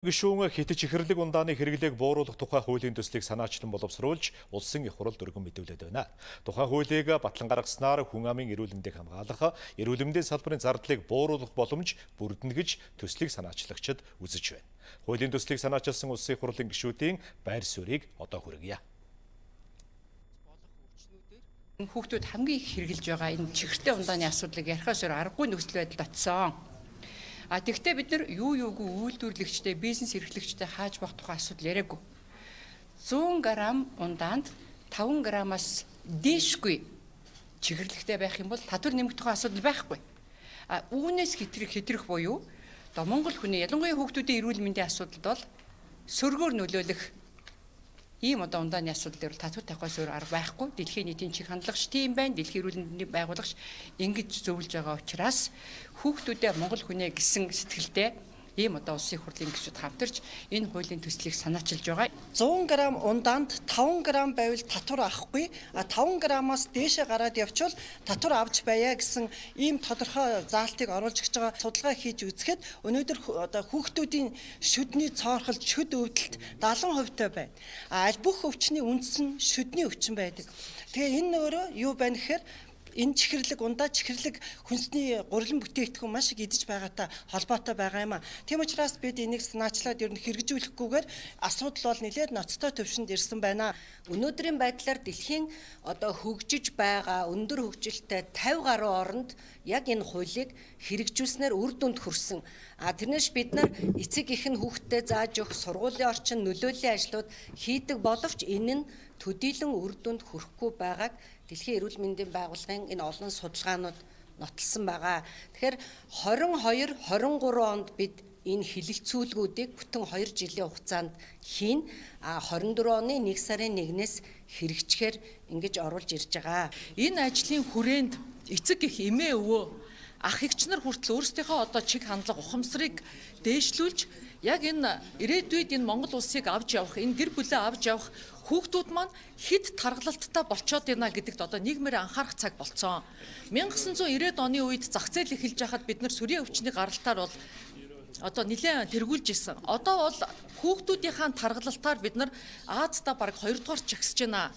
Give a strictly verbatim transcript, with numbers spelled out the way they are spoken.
Гишүүн хэтэж ихэрлэг ундааны хэрэглээг бууруулах тухай хуулийн төслийг санаачлан боловсруулж улсын их хурал дөргөн мэдүүлээд байна. Тухай хуулийг батлан гаргаснаар хүн амын эрүүл мэндийг хамгаалах, эрүүл мэндийн салбарын зардлыг бууруулах боломж бүрдэнэ гэж төслийг санаачлагчид үзэж байна. Хуулийн төслийг санаачилсан улсын их хурлын гишүүдийн байр суурийг одоо хүргье. Хүүхдүүд хамгийн их хэрэгжилж байгаа энэ чихэртэй ундааны асуудлыг ярихаас өөр аргагүй нөхцөл байдалд очсон. А тэгвэл бид нар юу юугүй үйлдвэрлэгчтэй, бизнес эрхлэгчтэй хааж байх тухай асуудал яриаггүй. зуун грамм ундаанд таван граммаас дээшгүй чихэрлэгтэй байх юм бол татвар нэмэх тухай асуудал байхгүй. А үүнээс хэтрэх хэтрэх буюу одоо Монгол хүний ялангуяа хүүхдүүдийн эрүүл мэндийн асуудалд бол сөргөөр нөлөөлөх ийм одоо ундааны асуудал дээр татвар тавихаас өөр арга байхгүй. Дэлхийн нийтийн чих хандлагч тийм байна. Дэлхийн эрүүл мэндийн байгуулагч ингэж зөвлөж байгаа учраас хүүхдүүдээ Монгол хүнээ гэсэн сэтгэлдээ ийм одоо улсын их хурлын гишүүд хамтарч энэ хуулийн төслийг санаачилж байгаа. зуун грамм ундаанд таван грамм байвал татвар авахгүй, а таван граммаас дээшээ гараад явчвал татвар авч байя гэсэн ийм тодорхой заалтыг оруулж өгч байгаа судалгаа хийж үзэхэд өнөөдөр одоо хүүхдүүдийн шүдний цоорхол шүд өвдөлт дагалан хувьтай байна. А аль бүх өвчний үндэс нь шүдний өвчин байдаг. Тэгээ энэ өөрөө юу байна гэхээр энэ чихэрлэг ундаа чихэрлэг хүнсний гурилан бүтээгдэхүүн маш их идэж байгаатай холбоотой байгаа юм а. Тийм учраас бид энийг санаачлаад ер нь хэрэгжүүлэхгүйгээр асуудал бол нэлээд ноцтой төвшөнд ирсэн байна. Өнөөдрийн байдлаар дэлхийн одоо хөгжиж байгаа өндөр хөгжилтэй тавь гаруй оронд яг энэ хуулийг хэрэгжүүлснээр үр дүнд хүрсэн. А тэрнээс бид нар эцэг эхэн хүүхдэд зааж өгөх сургуулийн орчин нөлөөллийн ажлууд хийдэг боловч энэ нь төдийлөн үр дүнд хүрэхгүй байгааг Дэлхийн эрүүл мэндийн байгууллагын энэ олон судалгаанууд нотолсон байгаа. Тэгэхээр хорин хоёр хорин гурван онд бид энэ хилэлцүүлгүүдийг бүтэн хоёр жилийн хугацаанд хийн. А хорин дөрвөн оны нэг сарын нэгнээс хэрэгжихээр ингэж оруулж ирж байгаа. Энэ ажлын хүрээнд эцэг эх эмээ өвөө ах эгч нар хүртэл өөрсдийнхөө одоо чиг хандлага ухамсарыг дээшлүүлж яг энэ ирээдүйд энэ Монгол улсыг авч явах, энэ гэр бүлээ авч явах хүүхдүүд маань хэд таргалалттай болцоод байна гэдэгт одоо нийгмээр анхаарах цаг болцсон. мянга девятьсот девяносто оны үед зах зээл эхэлж байхад бид нар сүрийн өвчний гаралтаар бол одоо нэлээд тэргүүлж исэн. Одоо бол хүүхдүүдийнхаа таргалалтаар бид нар Аазда бараг хоёр дугаар чагсаж байна.